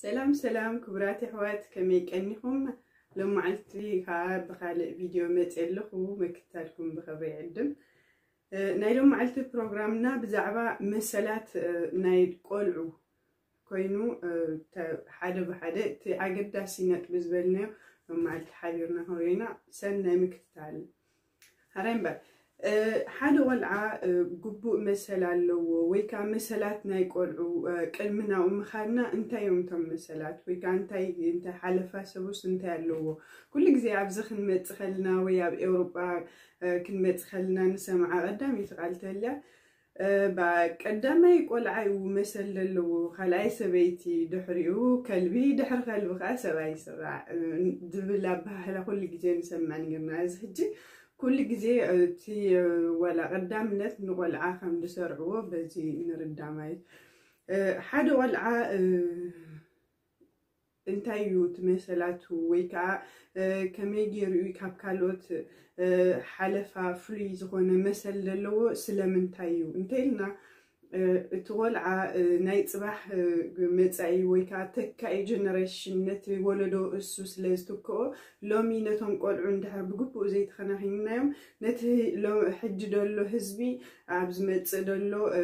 ሰላም ሰላም ክቡራት ኣሕዋት፣ ከመይ ቀኒኹም? ሎመዓልቲ ከዓ ብኻልእ ቪድዮ መፅእ ኣለኹ፣ መክታልኩም ብኸብሪ ይዕድም። እ፣ ናይ ሎመዓልቲ ፕሮግራምና ብዛዕባ መሰላት፣ እ፣ ናይ ቆልዑ ኮይኑ፣ እ፣ ተ-፣ ሓደ ብሓደ እቲ ኣገዳሲ ነጥቢ ዝበልናዮ ሎመዓልቲ ሓቢርና ክንሪኦ ኢና። ሰናይ ምክትታል። ሓራይ እምበር፣ እ፣ ሓደ ቆልዓ፣ እ፣ ግቡእ መሰል ኣለዎ ወይ ከዓ መሰላት ናይ ቆልዑ፣ እ፣ ቅድሚ ናብኡ ምኻድና እንታይ እዮም እቶም መሰላት ወይ ከዓ እንታይ፣ እንታይ ሓለፋ ሰቡስ እንታይ ኣለዎ? ኩሉ ግዜ ኣብዚ ክንመጽእ ከለና ወይ ኣብ ኤውሮጳ፣ እ፣ ክንመጽእ ከለና ንሰምዓ ቀዳመይቲ ቃል ተልያ፣ እ፣ ባ-፣ ቀዳማይ ቆልዓ እዩ መሰል ዘለዎ፣ ካልኣይ ሰበይቲ፣ ድሕሪኡ ከልቢ፣ ድሕሪ ከልቢ ከዓ ሰብኣይ ይስራዕ፣ እ፣ ዝብል ኣበሃህላ ኩሉ ግዜ ንሰምዕ ነይርና። እዚ ሕጂ ኩሉ ግዜ እቲ፣ እ፣ ዋላ ቀዳምነት ንቆልዓ ከም ዝሰርዕዎ በዚ ንርዳ ማለት። እ፣ ሓደ ቆልዓ፣ እ፣ እንታይ እዩ እቲ መሰላቱ ወይ ከዓ፣ እ፣ ከመይ ገይሩ እዩ ካብ ካልኦት፣ እ፣ ሓለፋ ፍሉይ ዝኾነ መሰል ዘለዎ ስለምንታይ እዩ እንተኢልና፣ እ፣ እቲ ቆልዓ፣ እ፣ ናይ ጽባሕ፣ እ፣ መጻኢ ወይ ከዓ ተካኢ ጀነሬሽን ነቲ ወለዶ እሱ ስለ ዝትክኦ፣ ሎሚ ነቶም ቆልዑ እንድሕር ብግቡእ ዘይተኸናኺንናዮም፣ ነቲ ሎ-፣ ሕጂ ደሎ ህዝቢ ኣብ ዝመጽእ ደሎ፣ እ፣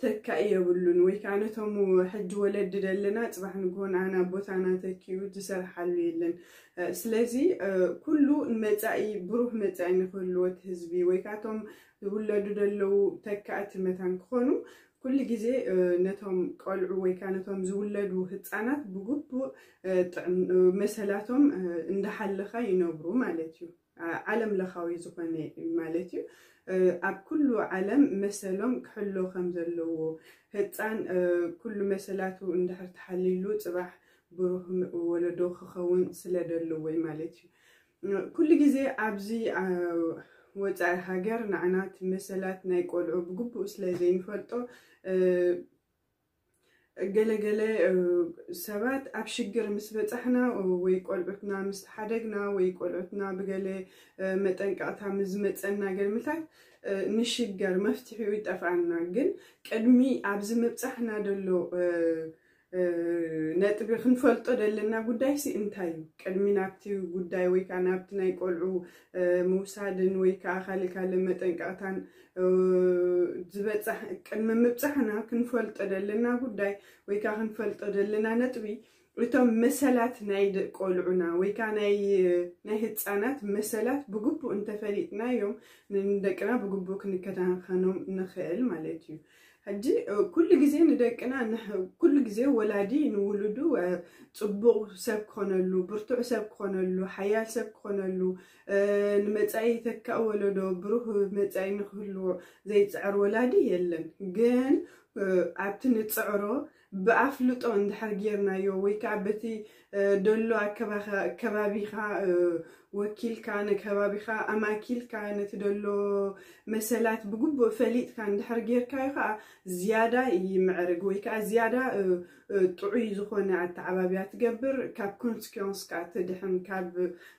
ተካኢ የብሉን። ወይ ከዓ ነቶም ሕጂ ወለዲ ደለና ጽባሕ ንግሆ ንዓና ቦታና ተኪኡ ዝሰርሓሉ የለን። እ፣ ስለዚ፣ እ፣ ኩሉ መጻኢ፣ ብሩህ መጻኢ ንክህልዎ እቲ ህዝቢ ወይ ከዓ እቶም ዝውለዱ ደለዉ ተካእቲ መታን ክኾኑ፣ ኩሉ ግዜ፣ እ፣ ነቶም ቆልዑ ወይ ከዓ ነቶም ዝውለዱ ህጻናት ብግቡእ፣ እ፣ ጥዕን-፣ እ፣ መሰላቶም፣ እ፣ እንዳሓለኻ ይነብሩ ማለት እዩ። ዓ-፣ ዓለም ለኻዊ ዝኾነ ማለት እዩ። እ፣ ኣብ ኩሉ ዓለም መሰሎም ክሕሎ ከም ዘለዎ፣ ህጻን፣ እ፣ ኩሉ መሰላቱ እንድሕር ተሓሊሉ ጽባሕ ብሩህ ም-፣ ወለዶ ክኸውን ስለ ደለዎ ማለት እዩ። እ፣ ኩሉ ግዜ ኣብዚ፣ አ፣ ወጻኢ ሃገር ንዓና እቲ መሰላት ናይ ቆልዑ ብግቡእ ስለ ዘይንፈልጦ፣ እ፣ ገለ ገለ፣ እ፣ ሰባት ኣብ ሽግር ምስ በጻሕና ወይ ቆልዑትና ምስ ተሓደግና ወይ ቆልዑትና ብገለ፣ እ፣ መጠንቀቕታ ምስ ዝመጸና ገልምታት፣ እ፣ ንሽገር መፍትሒኡ ይጠፍኣና። ግን ቅድሚ ኣብዚ ምብጻሕና ደሎ፣ እ፣ እ፣ ነጥቢ ክንፈልጦ ደለና ጉዳይሲ እንታይ እዩ? ቅድሚ ናብቲ ጉዳይ ወይ ከዓ ናብቲ ናይ ቆልዑ፣ እ፣ ምውሳድን ወይ ከዓ ካልእ ካልእ መጠንቀቕታን፣ እ፣ ዝበጻሕ-፣ ቅድሚ ምብጻሕና ክንፈልጦ ደለና ጉዳይ ወይ ከዓ ክንፈልጦ ደለና ነጥቢ፣ እቶም መሰላት ናይ ደ-፣ ቆልዑና ወይ ከዓ ናይ፣ ናይ ህጻናት መሰላት ብግቡእ እንተፈሊጥናዮም፣ ንደቅና ብግቡእ ክንከታተሎም ንኽእል ማለት እዩ። ሕጂ፣ እ፣ ኩሉ ግዜ ንደቅና ንሕ-፣ ኩሉ ግዜ ወላዲ ንውሉዱ፣ እ፣ ጽቡቕ ሰብ ክኾነሉ፣ ብርቱዕ ሰብ ክኾነሉ፣ ሓያል ሰብ ክኾነሉ፣ እ፣ ንመጻኢ ተካእ ወለዶ ብሩህ መጻኢ ንክህልዎ ዘይጽዕር ወላዲ የለን። ግን፣ እ፣ ኣብቲ ንጽዕሮ ብኣፍልጦ እንድሕር ጌርናዮ ወይ ከዓ በቲ፣ እ፣ ደሎ ኣከባኸ-፣ ከባቢኻ፣ እ፣ ወኪልካ፣ ንከባቢኻ ኣማኪልካ፣ ነቲ ደሎ መሰላት ብግቡእ ፈሊጥካ እንድሕር ጌርካዮ ከዓ ዝያዳ ይምዕርግ ወይ ከዓ ዝያዳ፣ እ፣ እ፣ ጥዑይ ዝኾነ ኣተዓባብያ ትገብር፣ ካብ ኮንስኪንስ ከዓ ትድሕን፣ ካብ፣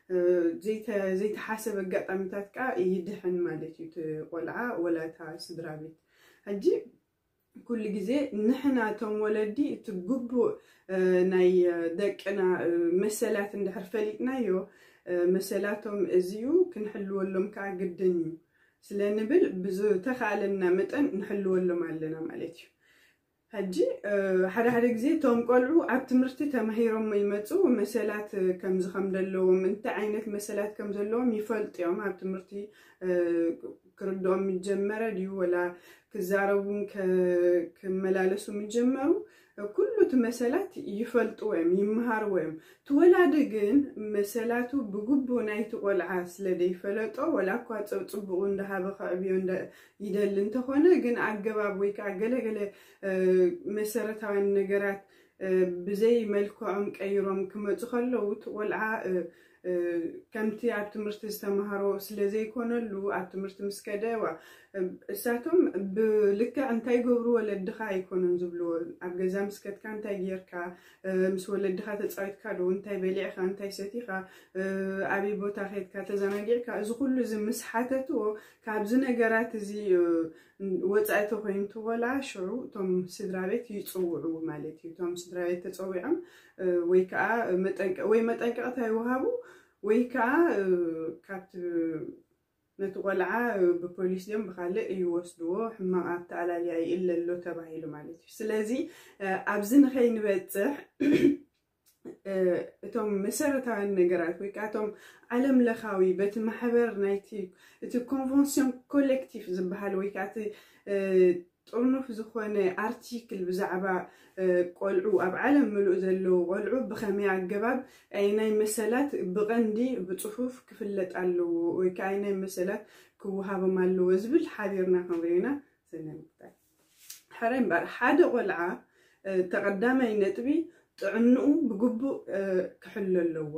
እ፣ ዘይተ-፣ ዘይተሓሰበ ኣጋጣሚታት ከዓ ይድሕን ማለት እዩ እቲ ቆልዓ ወላ እታ ስድራ ቤት። ሕጂ ኩሉ ግዜ ንሕና እቶም ወለዲ እቲ ግቡእ፣ እ፣ ናይ፣ እ፣ ደቅና፣ እ፣ መሰላት እንድሕር ፈሊጥናዮ፣ እ፣ መሰላቶም እዚዩ ክንሕልወሎም ከዓ ግድን እዩ ስለ ንብል ብዝተኻእለና መጠን ንሕልወሎም ኣለና ማለት እዩ። ሕጂ፣ እ፣ ሓደ ሓደ ግዜ እቶም ቆልዑ ኣብ ትምህርቲ ተማሂሮም ይመጹ፣ መሰላት፣ እ፣ ከምዚ ከም ዘለዎም፣ እንታይ ዓይነት መሰላት ከም ዘለዎም ይፈልጡ እዮም። ኣብ ትምህርቲ፣ እ፣ ክርድኦም ምጀመረ ድዩ ወላ ክዛረቡን ከ-፣ ክመላለሱ ምጀመሩ፣ ኩሉ እቲ መሰላት ይፈልጥዎ እዮም፣ ይመሃርዎ እዮም። እቲ ወላዲ ግን መሰላቱ ብግቡእ ናይቲ ቆልዓ ስለ ዘይፈለጦ፣ ወላ እኳ ጸ-፣ ጽቡቑ እንዳሃበ ከዕብዮ እንዳ-፣ ይደሊ እንተኾነ፣ ግን ኣገባብ ወይ ከዓ ገለገለ፣ እ፣ መሰረታውያን ነገራት፣ እ፣ ብዘይ መልክዖም ቀይሮም ክመጹ ከለዉ፣ እቲ ቆልዓ፣ እ፣ እ፣ ከምቲ ኣብ ትምህርቲ ዝተምሃሮ ስለ ዘይኮነሉ፣ ኣብ ትምህርቲ ምስ ከደ፣ ዋ፣ እ፣ እሳቶም ብልክዕ እንታይ ይገብሩ ወለድኻ ኣይኮኑን ዝብልዎ። ኣብ ገዛ ምስ ከድካ እንታይ ጌርካ፣ እ፣ ምስ ወለድኻ ተጻዊትካ ዶ፣ እንታይ በሊዕኻ፣ እንታይ ሰቲኻ፣ እ፣ ኣበይ ቦታ ኸድካ ተዘናጊዕካ፣ እዚ ኩሉ እዚ ምስ ሓተትዎ፣ ካብዚ ነገራት እዚ፣ እ፣ ወፃኢ ተኮይኑ እቲ ቆልዓ ሽዑ እቶም ስድራ ቤት ይፅውዑ ማለት እዩ። እቶም ስድራ ቤት ተፀዊዖም ወይ ከዓ ወይ መጠንቀቕታ ይወሃቡ ወይ ከዓ ካብቲ ነቲ ቆልዓ ብፖሊስ ድዮም ብካልእ ይወስድዎ፣ ሕማቕ ኣተኣላልያ ይእለ ኣሎ ተባሂሉ ማለት እዩ። ስለዚ ኣብዚ ንኸይንበፅሕ እቶም መሰረታውያን ነገራት ወይ ከዓ እቶም ዓለም ለኻዊ በቲ ማሕበር ናይቲ እቲ ኮንቨንስዮን ኮሌክቲቭ ዝበሃል ወይ ከዓ እቲ ጥርኑፍ ዝኾነ ኣርቲክል ብዛዕባ ቆልዑ ኣብ ዓለም ምሉእ ዘለዉ ቆልዑ ብኸመይ ኣገባብ ናይ መሰላት ብቐንዲ ብፅፉፍ ክፍለጥ ኣለዎ ወይ ከዓ ናይ መሰላት ክወሃቦም ኣለዎ ዝብል ሓቢርና ክንሪና ዘነምግታል። ሕረ እምበር ሓደ ቆልዓ ተቐዳማይ ነጥቢ ጥዕንኡ ብግቡእ ክሕሎ ኣለዎ።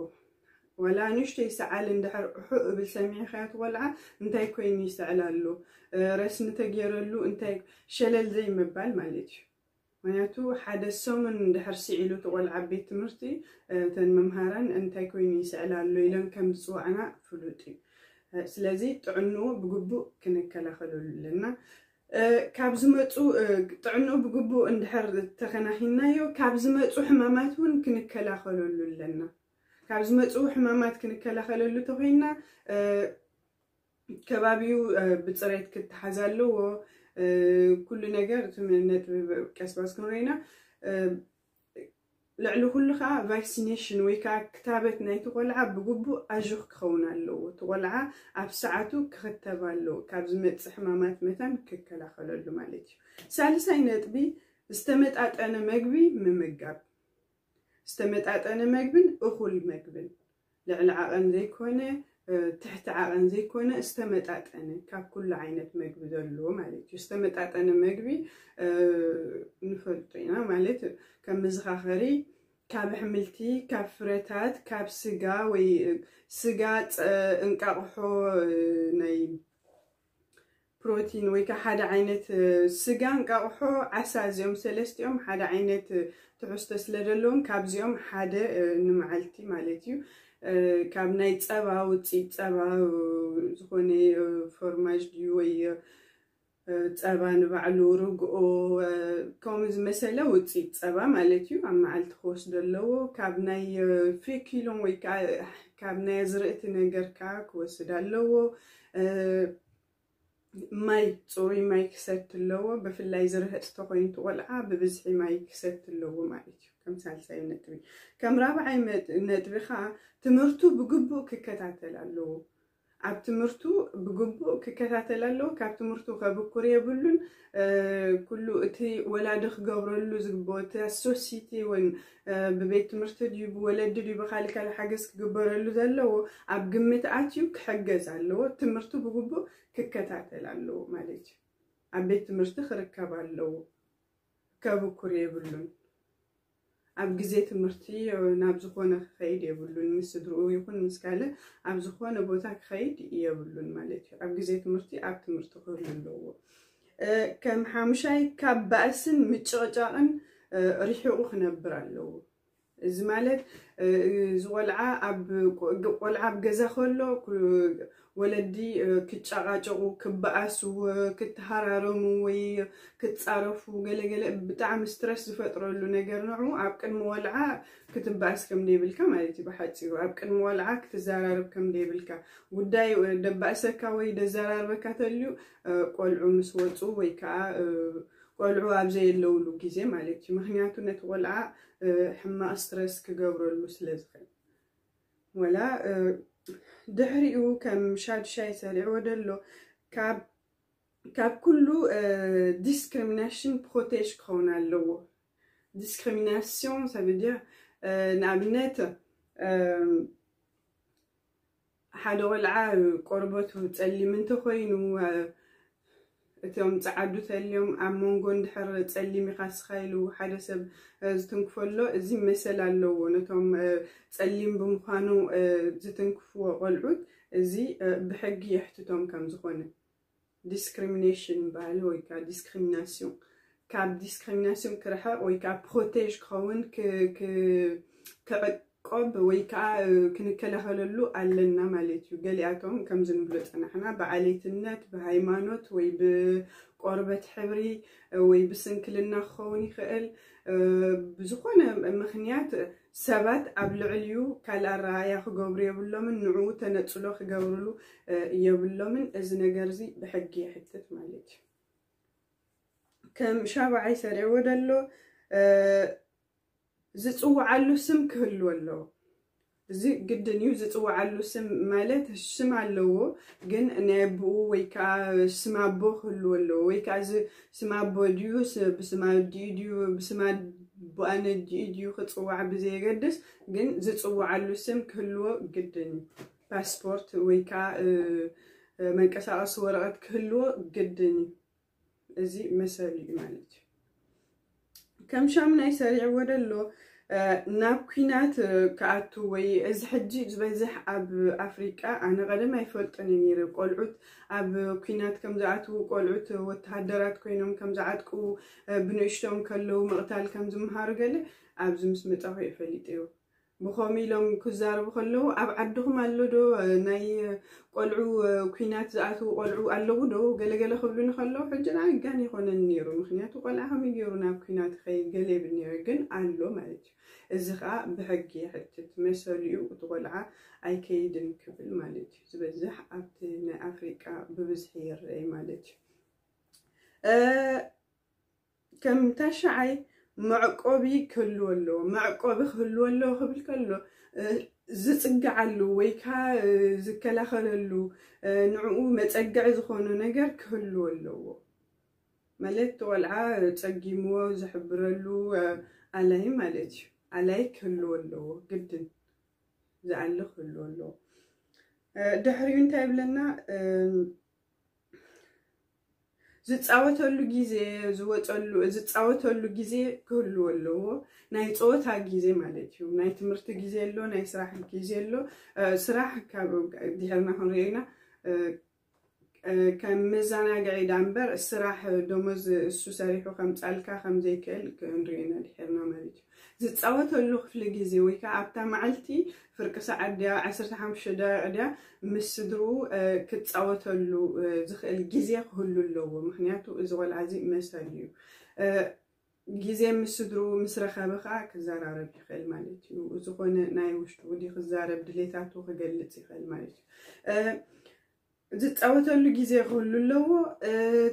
ወላ ንእሽተይ ሰዓል እንድሕር እሑ እብል ሰሚዕኻዮ እቲ ቆልዓ እንታይ ኮይኑ ይስዕል ኣሎ፣ ረስኒ ተገይረሉ እንታይ ሸለል ዘይምባል ማለት እዩ። ምክንያቱ ሓደ ሰሙን እንድሕር ስዒሉ እቲ ቆልዓ ቤት ትምህርቲ እተን መምሃራን እንታይ ኮይኑ ይስዕል ኣሎ ኢለን ከም ዝፅዋዕና ፍሉጥ እዩ። ስለዚ ጥዕንኡ ብግቡእ ክንከላኸለሉ ኣለና። ካብ ዝመፁ ጥዕንኡ ብግቡእ እንድሕር ተኸናኺናዮ ካብ ዝመፁ ሕማማት እውን ክንከላኸለሉ ኣለና። ካብ ዝመፁ ሕማማት ክንከላኸለሉ ተኮይና ከባቢኡ ብፅሬት ክተሓዝ ኣለዎ። ኩሉ ነገር እቲ ነጥቢ ቀስባስ ክንረኢና ልዕሊ ኩሉ ከዓ ቫክሲኔሽን ወይ ከዓ ክታበት ናይቲ ቆልዓ ብግቡእ ኣዥኽ ክኸውን ኣለዎ። እቲ ቆልዓ ኣብ ሰዓቱ ክኽተብ ኣለዎ። ካብ ዝመፅእ ሕማማት መታን ክከላኸለሉ ማለት እዩ። ሳልሳይ ነጥቢ ዝተመጣጠነ መግቢ ምምጋብ። ዝተመጣጠነ መግብን እኹል መግብን ልዕሊ ዓቐን ዘይኮነ ትሕቲ ዓቐን ዘይኮነ ዝተመጣጠነ ካብ ኩሉ ዓይነት መግቢ ዘለዎ ማለት እዩ። ዝተመጣጠነ መግቢ ንፈልጦ ኢና ማለት ከም መዘኻኸሪ ካብ ኣሕምልቲ፣ ካብ ፍረታት፣ ካብ ስጋ ወይ ስጋ፣ እንቃቕሖ ናይ ፕሮቲን ወይ ከዓ ሓደ ዓይነት ስጋ፣ እንቃቕሖ፣ ዓሳ እዚኦም ሰለስቲኦም ሓደ ዓይነት ትሕዝቶ ስለ ዘለዎም ካብዚኦም ሓደ ንመዓልቲ ማለት እዩ። ካብ ናይ ፀባ ውፅኢት ፀባ ዝኾነ ፎርማጅ ድዩ ወይ ፀባ ንባዕሉ ርግኦ ከምኡ ዝመሰለ ውፅኢት ፀባ ማለት እዩ ኣብ መዓልቲ ክወስዶ ኣለዎ። ካብ ናይ ፌኪሎም ወይ ከዓ ካብ ናይ ኣዝርእቲ ነገር ከዓ ክወስድ ኣለዎ። ማይ፣ ፅሩይ ማይ ክሰቲ ኣለዎ። ብፍላይ ዝርህፅ ተኮይኑ እቲ ቆልዓ ብብዝሒ ማይ ክሰቲ ኣለዎ ማለት እዩ። ከም ሳልሳይ ነጥቢ። ከም ራብዓይ ነጥቢ ከዓ ትምህርቱ ብግቡእ ክከታተል ኣለዎ። ኣብ ትምህርቱ ብግቡእ ክከታተል ኣለዎ። ካብ ትምህርቱ ከብኩር የብሉን። ኩሉ እቲ ወላዲ ክገብረሉ ዝግብኦ እቲ ሶሲቲ ወይ ብቤት ትምህርቲ ድዩ ብወለዲ ድዩ ብካልእ ካልእ ሓገዝ ክግበረሉ ዘለዎ ኣብ ግምት ኣትዩ ክሕገዝ ኣለዎ። ትምህርቱ ብግቡእ ክከታተል ኣለዎ ማለት እዩ። ኣብ ቤት ትምህርቲ ክርከብ ኣለዎ። ከብኩር የብሉን። ኣብ ግዜ ትምህርቲ ናብ ዝኾነ ክኸይድ የብሉን። ምስ ስድርኡ ይኹን ምስ ካልእ ኣብ ዝኾነ ቦታ ክኸይድ የብሉን ማለት እዩ። ኣብ ግዜ ትምህርቲ ኣብ ትምህርቲ ክህሉ ኣለዎ። ከም ሓሙሻይ ካብ ባእስን ምጭቕጫቕን ርሒቑ ክነብር ኣለዎ። እዚ ማለት እዚ ቆልዓ ኣብ ቆልዓ ኣብ ገዛ ከሎ ወለዲ ክጨቃጨቁ፣ ክበኣሱ፣ ክትሃራረሙ ወይ ክፃረፉ ገለገለ ብጣዕሚ ስትረስ ዝፈጥረሉ ነገር ንዑ ኣብ ቅድሚ ቆልዓ ክትበኣስ ከም ደይብልካ ማለት እዩ። ብሓፂሩ ኣብ ቅድሚ ቆልዓ ክትዘራረብ ከም ደይብልካ፣ ጉዳይ ደባእሰካ ወይ ደዘራርበካ ተልዩ ቆልዑ ምስ ወፁ ወይ ከዓ ቆልዑ ኣብ ዘየለውሉ ግዜ ማለት እዩ። ምክንያቱ ነቲ ቆልዓ ሕማቕ ስትረስ ክገብረሉ ስለ ዝኽእል። ወላ ድሕሪኡ ከም ሻዱሻይ ሰሪዕዎ ደሎ ካብ ኩሉ ዲስክሪሚናሽን ፕሮቴጅ ክኸውን ኣለዎ። ዲስክሪሚናሲዮን ሰብድር ንኣብነት ሓደ ቆልዓ ቆርበቱ ፀሊም እንተኮይኑ እቶም ፀዓዱ ተልዮም ኣብ መንጎ እንድሕር ፀሊም ኢኻ ስኻ ኢሉ ሓደ ሰብ ዝትንክፈሎ እዚ መሰል ኣለዎ። ነቶም ፀሊም ብምዃኑ ዝትንክፍዎ ቆልዑት እዚ ብሕጊ የሕትቶም ከም ዝኾነ ዲስክሪሚኔሽን ባህል ወይ ከዓ ዲስክሪሚናሲዮን ካብ ዲስክሪሚናሲዮን ክርሕቕ ወይ ከዓ ፕሮቴጅ ክኸውን ክዕቆብ ወይ ከዓ ክንከላኸለሉ ኣለና ማለት እዩ። ገሊኣቶም ከምዚ ንብሎ ፀናሕና ብዓሌትነት፣ ብሃይማኖት ወይ ብ ቆርበት ሕብሪ ወይ ብስንክልና ክኸውን ይኽእል። ብዝኾነ ምኽንያት ሰባት ኣብ ልዕሊኡ ካልእ ኣረኣእያ ክገብሩ የብሎምን፣ ንዕኡ ተነጽሎ ክገብርሉ የብሎምን። እዚ ነገር እዚ ብሕጊ ይሕትት ማለት እዩ። ከም ሻብዓይ ሰሪዕዎ ደሎ ዝጽውዓሉ ስም ክህልዎ ኣለዎ። እዚ ግድን እዩ። ዝጽውዓሉ ስም ማለት ስም ኣለዎ፣ ግን ናይ ኣቦኡ ወይ ከዓ ስም ኣቦ ክህልዎ ኣለዎ፣ ወይ ከዓ እዚ ስም ኣቦ ድዩ ስ- ብስም ኣዲኡ ድዩ ብስም ኣቦኣን ኣዲኡ ድዩ ክጽዋዕ ብዘየገድስ፣ ግን ዝጽውዓሉ ስም ክህልዎ ግድን እዩ። ፓስፖርት ወይ ከዓ መንቀሳቀሲ ወረቀት ክህልዎ ግድን እዩ። እዚ መሰሉ እዩ ማለት እዩ። ከም ሻምናይ ሰሪዕዎ ደሎ ናብ ኩናት ክኣቱ ወይ እዚ ሕጂ ዝበዝሕ ኣብ ኣፍሪቃ ኣነ ቀደም ኣይፈልጥን ነይረ። ቆልዑት ኣብ ኩናት ከም ዝኣትዉ፣ ቆልዑት ወተሃደራት ኮይኖም ከም ዝዓጥቁ፣ ብንእሽቶም ከለዉ ምቕታል ከም ዝምሃሩ ገለ ኣብዚ ምስ መጻኹ እየ ፈሊጠዮ። ብኸምኡ ኢሎም ክዛረቡ ከለዉ ኣብ ዓድኹም ኣሎ ዶ ናይ ቆልዑ ኩናት ዝኣትዉ ቆልዑ ኣለዉ ዶ ገለገለ ክብሉኒ ከለዉ ሕጂ ንዓይ ጋን ይኾነኒ ነይሩ። ምክንያቱ ቆልዓ ከመይ ገይሩ ናብ ኩናት ይኸይድ ገለ ይብል ነይረ፣ ግን ኣሎ ማለት እዩ። እዚ ከዓ ብሕጊ ይሕትት መሰሉ እዩ። እቲ ቆልዓ ኣይከይድን ክብል ማለት እዩ። ዝበዝሕ ኣብቲ ናይ ኣፍሪቃ ብብዝሒ ይረአ ማለት እዩ። ከም ታሽዓይ መዕቆቢ ክህልዎ ኣለዎ። መዕቆቢ ክህልዎ ኣለዎ ክብል ከሎ ዝጽግዓሉ ወይ ከዓ ዝከላኸለሉ ንዕኡ መጸግዒ ዝኾኑ ነገር ክህልዎ ኣለዎ። ማለት እቲ ቆልዓ ጸጊምዎ ዝሕብረሉ ኣላይ ማለት እዩ። ኣላይ ክህልዎ ኣለዎ፣ ግድን ዝኣሊ ክህልዎ ኣለዎ። ድሕሪኡ እንታይ ይብለና? ዝፃወተሉ ግዜ ዝወፀሉ ዝፃወተሉ ግዜ ክህልዎ ኣለዎ። ናይ ፀወታ ግዜ ማለት እዩ። ናይ ትምህርቲ ግዜ ኣሎ፣ ናይ ስራሕ ግዜ ኣሎ። ስራሕ ካብ ድሕርና ክንሪኦ ኢና። ከም መዘናግዒ ዳ እምበር ስራሕ ደሞዝ እሱ ሰሪሑ ከምፃልካ ከምዘይክእል ክንሪኦ ኢና ድሕርና ማለት እዩ። ዝፃወተሉ ክፍሊ ግዜ ወይ ከዓ ኣብታ መዓልቲ ፍርቂ ሰዓት ድያ ዓሰርተ ሓሙሽተ ደቂቕ ድያ ምስ ስድርኡ ክፃወተሉ ዝኽእል ግዜ ክህሉ ኣለዎ። ምክንያቱ እዚ ቆልዓ እዚ መሰል እዩ። ግዜ ምስ ስድርኡ ምስ ረኸበ ከዓ ክዘራረብ ይኽእል ማለት እዩ። ዝኾነ ናይ ውሽጡ ድዩ ክዛረብ ድሌታቱ ክገልፅ ይኽእል ማለት እዩ። ዝፃወተሉ ግዜ ክህሉ ኣለዎ።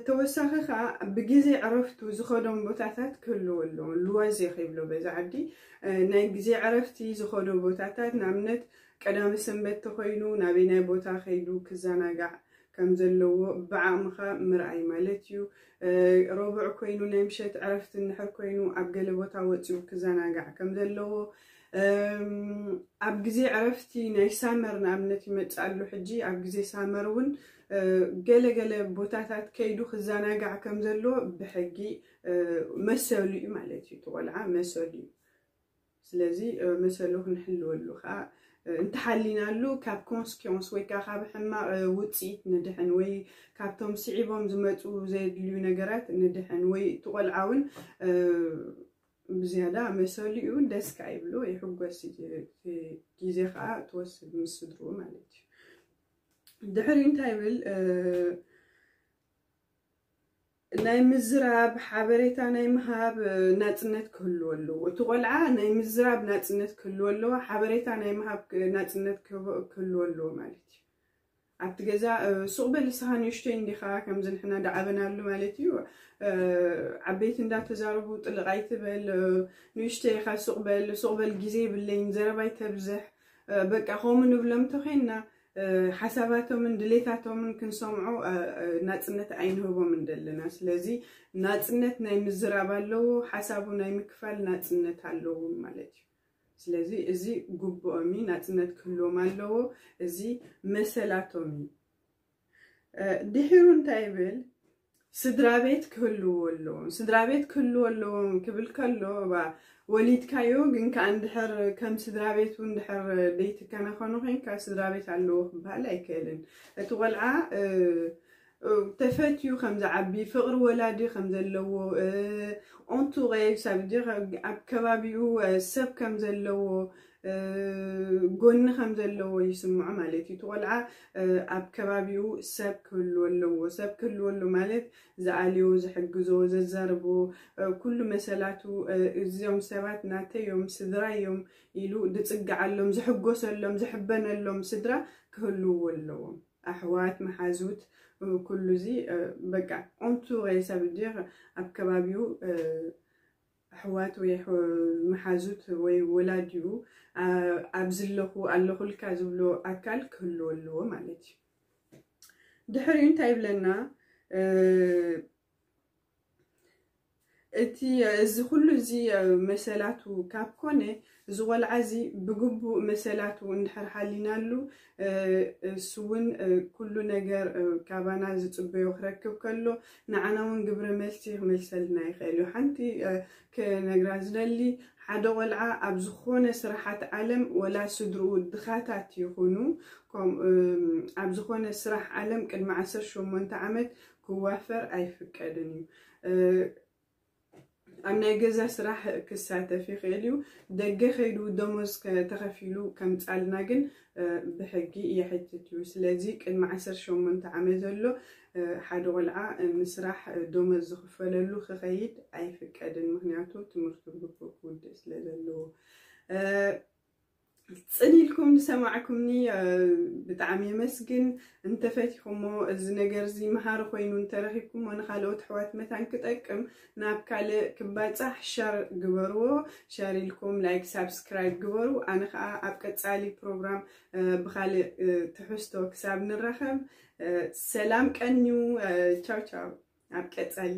ተወሳኺ ከዓ ብግዜ ዕረፍቱ ዝኸዶም ቦታታት ክህልዎ ኣለዎ። ሉዋዜ ከይብሎ በዚ ዓዲ ናይ ግዜ ዕረፍቲ ዝኸዶ ቦታታት፣ ንኣብነት ቀዳሚ ሰንበት ተኮይኑ ናበይ ናይ ቦታ ከይዱ ክዘናጋዕ ከም ዘለዎ ብዓቕምኻ ምርኣይ ማለት እዩ። ረቡዕ ኮይኑ ናይ ምሸት ዕረፍቲ እንድሕር ኮይኑ ኣብ ገለ ቦታ ወፂኡ ክዘናጋዕ ከም ዘለዎ፣ ኣብ ግዜ ዕረፍቲ ናይ ሳመር ንኣብነት ይመፅእ ኣሎ። ሕጂ ኣብ ግዜ ሳመር እውን ገለገለ ቦታታት ከይዱ ክዘናጋዕ ከም ዘለዎ ብሕጊ መሰሉ እዩ ማለት እዩ። እቲ ቆልዓ መሰሉ እዩ። ስለዚ መሰሉ ክንሕልወሉ ከዓ እንተሓሊናሉ ካብ ኮንስኪንስ ወይ ከዓ ካብ ሕማቕ ውፅኢት ንድሕን ወይ ካብቶም ስዒቦም ዝመፁ ዘየድልዩ ነገራት ንድሕን ወይ እቲ ቆልዓ እውን ብዝያዳ መሰሉ እዩ። ደስ ከዓ ይብሎ፣ ይሕጎስ። ግዜ ከዓ ትወስድ ምስ ስድርኡ ማለት እዩ። ድሕሪ እንታይ ይብል? ናይ ምዝራብ ሓበሬታ ናይ ምሃብ ናፅነት ክህልዎ ኣለዎ። እቲ ቆልዓ ናይ ምዝራብ ናፅነት ክህልዎ ኣለዎ። ሓበሬታ ናይ ምሃብ ናፅነት ክህልዎ ኣለዎ ማለት እዩ። ኣብቲ ገዛ ሱቕ በል ንስኻ ንእሽተይ እንዲኻ ከምዚ ንሕና ዳዓበናሉ ማለት እዩ። ዓበይቲ እንዳተዛረቡ ጥልቕ ኣይትበል፣ ንእሽተይ ኢኻ ሱቕ በል፣ ሱቕ በል ግዜ የብለይን፣ ዘረባ ኣይተብዝሕ፣ በቃ ከምኡ ንብሎም እንተኾይንና ሓሳባቶምን ድሌታቶምን ክንሰምዖ ናፅነት ኣይንህቦምን ዘለና። ስለዚ ናፅነት ናይ ምዝራብ ኣለዎ፣ ሓሳቡ ናይ ምክፋል ናፅነት ኣለዎም ማለት እዩ። ስለዚ እዚ ግቡኦም እዩ፣ ናፅነት ክህልዎም ኣለዎ። እዚ መሰላቶም እዩ። ድሒሩ እንታይ ይብል? ስድራ ቤት ክህልዎ ኣለዎም። ስድራ ቤት ክህልዎ ኣለዎም ክብል ከሎ፣ ባ ወሊድካዮ ግን ከኣ እንድሕር ከም ስድራ ቤት እውን እንድሕር ደይትከናኸኖ ኮይንካ ስድራ ቤት ኣለዎ ክበሃል ኣይክእልን። እቲ ቆልዓ ተፈትዩ ከም ዝዓቢ፣ ፍቕሪ ወላዲ ከም ዘለዎ፣ ኦንቱሬ ሰብ ድዩ፣ ኣብ ከባቢኡ ሰብ ከም ዘለዎ፣ ጎኒ ከም ዘለዎ ይስምዖ ማለት እዩ። እቲ ቆልዓ ኣብ ከባቢኡ ሰብ ክህልዎ ኣለዎ። ሰብ ክህልዎ ኣሎ ማለት ዝኣልዮ፣ ዝሕግዞ፣ ዘዛርቦ፣ ኩሉ መሰላቱ፣ እዚኦም ሰባት ናተይ እዮም፣ ስድራይ እዮም ኢሉ ዝፅግዓሎም፣ ዝሕጎሰሎም፣ ዝሕበነሎም ስድራ ክህልውዎ ኣለዎም። ኣሕዋት፣ መሓዙት፣ ኩሉ እዚ በቃ ኦንቱ ወይ ሰብ ድር ኣብ ከባቢኡ ኣሕዋት ወይ መሓዙት ወይ ወላዲኡ ኣብ ዝለኹ ኣለኹልካ ዝብሎ ኣካል ክህልዎ ኣለዎ ማለት እዩ። ድሕሪኡ እንታይ ይብለና? እቲ እዚ ኩሉ እዚ መሰላቱ ካብ ኮነ፣ እዚ ቆልዓ እዚ ብግቡእ መሰላቱ እንድሕር ሓሊናሉ፣ እሱ እውን ኩሉ ነገር ካባና ዝፅበዮ ክረክብ ከሎ፣ ንዓና እውን ግብረ መልሲ ክመልሰልና ይኽእል እዩ። ሓንቲ ክነግራ ዝደሊ፣ ሓደ ቆልዓ ኣብ ዝኾነ ስራሓት ዓለም፣ ወላ ስድርኡ ድኻታት ይኹኑ፣ ኣብ ዝኾነ ስራሕ ዓለም ቅድሚ ዓሰርተ ሸሞንተ ዓመት ክዋፈር ኣይፍቀድን እዩ። ኣብ ናይ ገዛ ስራሕ ክሳተፍ ይኽእል እዩ። ደገ ከይዱ ደሞዝ ተኸፊሉ ከምፃልና ግን ብሕጊ የሕትት እዩ። ስለዚ ቅድሚ ዓሰርተ ሸሞንተ ዓመት ዘሎ ሓደ ቆልዓ ንስራሕ ደሞዝ ዝኽፈለሉ ክኸይድ ኣይፍቀድን። ምክንያቱ ትምህርቱ ግቡእ ክውድእ ስለ ዘለዎ። ፅን ኢልኩም ዝሰማዕኩምኒ ብጣዕሚ የመስግን። እንተፈቲኹሞ፣ እዚ ነገር እዚ መሃሪ ኮይኑ እንተረኺብኩሞ፣ ንካልኦት ኣሕዋት መታን ክጠቅም፣ ናብ ካልእ ክባፃሕ ሸር ግበርዎ። ሸር ኢልኩም ላይክ፣ ሳብስክራይብ ግበሩ። ኣነ ከዓ ኣብ ቀፃሊ ፕሮግራም ብካልእ ትሕዝቶ ክሳብ ንራኸብ ሰላም ቀንዩ። ቻው ቻው፣ ኣብ ቀፃሊ።